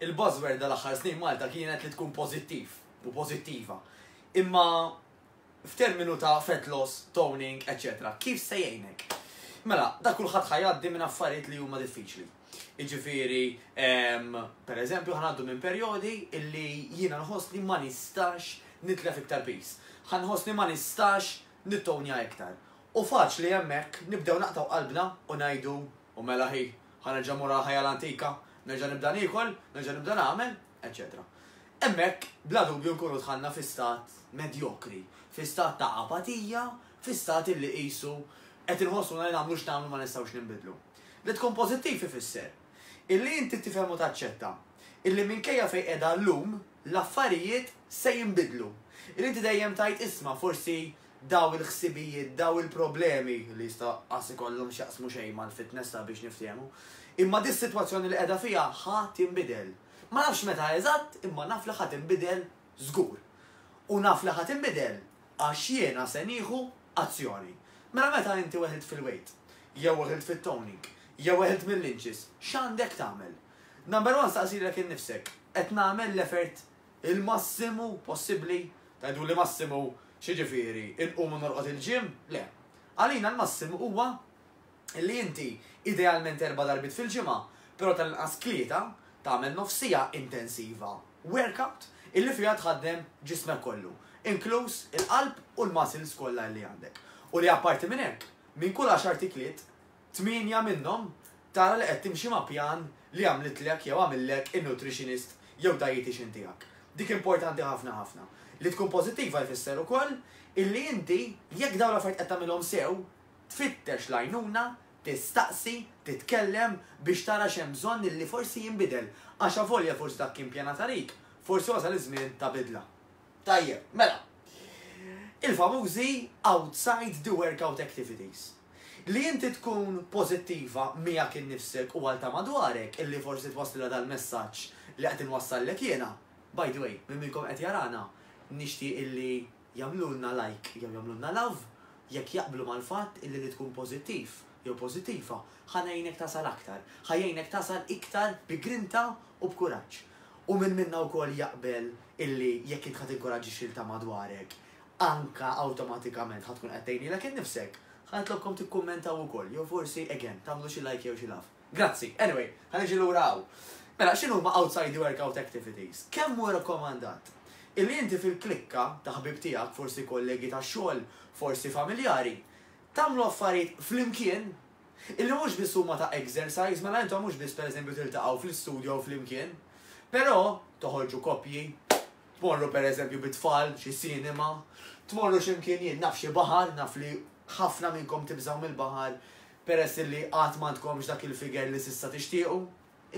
Il-buzzword dal-aħħar snin Malta kienet li tkun pożittiv u pożittiva. Imma f'terminu ta' fat loss, toning, eċċetera, kif se jgħinek? Mela, da kulħadd ħa jgħaddi minn affarijiet li huma diffiċli. Jiġifieri, per eżempju, ħa ngħaddu minn perjodi illi jiena nħoss li ma nistax nitlef iktar piż. Ħa nħoss li ma nistax nittonja iktar. U faċli hemmhekk nibdew naqtgħu qalbna u ngħidu, u mela ħi, ħa nerġa' mmur għall-ħajja l-antika, nerġa' nibda niekol, nerġa' nibda nagħmel, eċċetera. Hemmhekk, bla dubju nkunu dħalna fi stat medjokri, fi stat ta' apatija, fi stat illi qisu qed inħossuna li nagħmlu x'nagħmlu ma nistgħux ninbidlu. Li tkun pożittiv ifisser illi inti tifhem u taċċetta illi minkejja fejn qiegħda llum, l-affarijiet se jinbidlu. Illi inti dejjem tgħid isma' forsi daw il-ħsibijiet, daw il-problemi li jista' qas ikollhom x'jaqsmu xejn mal-fitness ta' biex niftehmu. Imma dis-sitwazzjoni li qiegħda fiha ħa tinbidel. Ma nafx meta eżatt, imma naf li ħa tinbidel żgur. U naf li ħa tinbidel għax jiena se nieħu azzjoni. Mela meta inti weħilt fil-weight, jew weħilt fit-toning, jew weħilt mill-inches, x'għandek tagħmel? Number one staqsi lilek innifsek, qed nagħmel l-effort il-massimu possibbli? Tgħiduli massimu x'jiġifieri, inqum u norqod il-gym? Le. Għalina l-massimu huwa li inti idealment erba' darbiet fil-ġimgħa, però tal-inqas tlieta, tagħmel nofs siegħa intensiva workout illi fiha tħaddem ġismek kollu, inkluż il-qalb u l-muscles kollha li għandek. U li apparti minn hekk, minn kull għaxart ikliet, Tmienja minnhom tara li qed timxi ma' pjan li għamlitlek jew għamillek in-nutritionist jew dietician tiegħek. Dik importanti ħafna ħafna. Li tkun pożittiva jfisser ukoll illi inti jekk dawn l-affarijiet qed tagħmilhom sew, tfittex l-għajnuna, tistaqsi, titkellem biex tara x'hemm bżonn illi forsi jinbidel għax avolja forsi dak kien pjanat għalik, forsi wasal iż-żmien ta' bidla. Tajjeb, mela. Il-famużi outside the workout activities. Li inti tkun pożittiva miegħek innifsek u għal ta' madwarek illi forsi twasslilha dal-messaġġ li qed inwassallek jiena. By the way, min minnkom qed jarana, nixtieq illi jagħmlulna like jew jagħmlulna love jekk jaqblu mal-fatt illi li tkun pożittiv jew pożittiva ħa ngħinek tasal aktar, ħa jgħinek tasal iktar bi grinta u b'kuraġġ. U min minna wkoll jaqbel illi jekk int ħa tinkoraġġixxi lil ta' madwarek, anka awtomatikament ħa tkun qed tgħin lilek innifsek, ħa nitlobkom tikkummentaw ukoll jew forsi again tagħmlu xi like jew xi love. Grazzi. Anyway, ħa niġi lura hawn. Mela, x'inhuma outside the workout activities? Kemm hu rakkomandat illi inti fil-klikka ta' ħbieb tiegħek, forsi kollegi tax-xogħol, forsi familjari, tagħmlu affarijiet flimkien Illi mhux biss huma ta' exercise, mela intom mhux biss pereżempju tiltaqgħu fl-istudio flimkien, però toħorġu koppji, tmorru pereżempju bit-tfal xi cinema, tmorru xi mkien jien naf xi baħar, naf li ħafna minnkom tibżgħu mill-baħar peress illi qatt m'għandkomx dak il-figure li s'issa tixtiequ,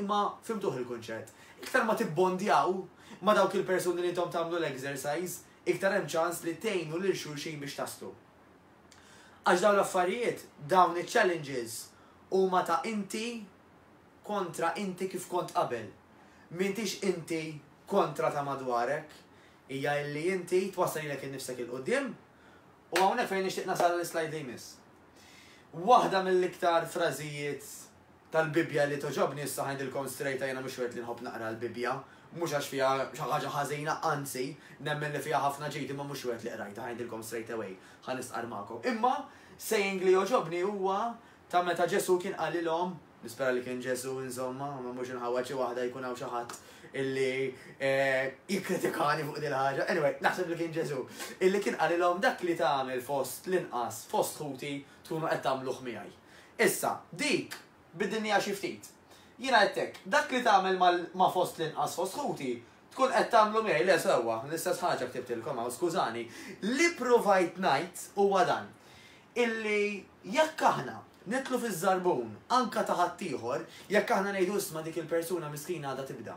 imma fhimtuh il-kunċett. Iktar ma tibbondjaw ma' dawk il-persuni li intom tagħmlu l-exercise, iktar hemm ċans li tgħinu lil xulxin biex taslu. Għax dawn l-affarijiet, dawn iċ-challenges huma ta' inti kontra inti kif kont qabel. M'intix inti kontra ta' madwarek. Hija illi inti twassal lilek innifsek 'il quddiem u hawnhekk fejn nixtieq nasal għall-islide li jmiss. Waħda mill-iktar frażijiet tal-Bibbja li togħġobni, issa ħa ngħidilkom straight jiena mhux wieħed li nħobb naqra l-Bibbja, mhux għax fiha xi ħaġa ħażina, anzi, nemmen li fiha ħafna ġid imma mhux wieħed li qrajtha, ħa ngħidilkom straight away, ħa nistqarr magħkom. Imma saying li jogħġobni huwa ta' meta Ġesù kien qalilhom, nispera li kien Ġesù insomma, ma mhux inħawwad xi waħda jkun hawn xi ħadd illi eh, jikkritikani fuq din ħaġa. Anyway, naħseb li kien Ġesù, illi kien qalilhom dak li tagħmel fost l-inqas fost ħuti tkunu qed tagħmluh miegħi. Issa, dik biddilniha xi ftit. Jiena għedt hekk, dak li tagħmel ma' fost l-inqas fost ħuti, tkun qed tagħmlu miegħi. Le, sewwa, l-istess ħaġa ktibtilkom hawn, skużani. Li ppruvajt ngħid huwa dan, illi jekk aħna nidħlu fiż-żarbun anke ta' ħaddieħor, jekk aħna ngħidu isma' dik il-persuna miskina għadha tibda.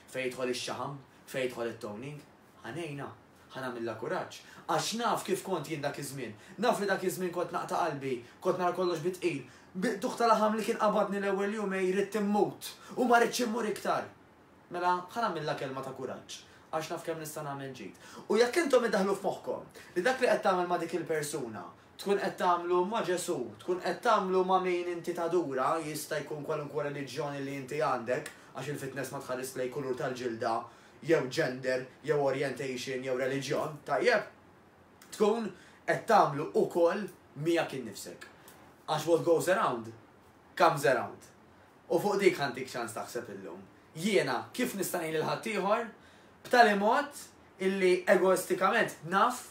Fejn jidħol ix-xaħam, fejn jidħol it-toning, ħa ngħinha. Ħa nagħmilha kuraġġ. Għax naf kif kont jien dak iż-żmien. Naf li dak iż-żmien kont naqta' qalbi, kont nara kollox bi tqil. Bi qtugħ ta' laħam li kien qabadni l-ewwel jumejn ridt immut u ma ridtx immur iktar. Mela, ħa nagħmilha kelma ta' kuraġġ, għax naf kemm nista' nagħmel ġid. U jekk intom iddaħħlu f'moħħkom li dak li qed tagħmel ma' dik il-persuna tkun qed tagħmlu ma' Ġesù, tkun qed tagħmlu ma' min inti tadura, jista' jkun kwalunkwe reliġjon li inti għandek, għax il-fitness ma tħares lejn kulur tal-ġilda, jew gender, jew orientation, jew reliġjon, tajjeb? Tkun qed tagħmlu ukoll miegħek innifsek. Għax what goes around, comes around. U fuq dik ħa ntik ċans taħseb illum. Jiena kif nista' ngħin lil ħaddieħor b'tali mod illi egoistikament naf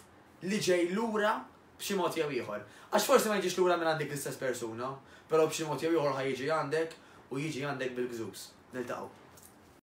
li ġej lura b'xi mod jew ieħor? Għax forsi ma jiġix lura minn għandek l-istess persuna, però b'xi mod jew ieħor ħa jiġi għandek u jiġi għandek bil-gżuż. Niltaqgħu.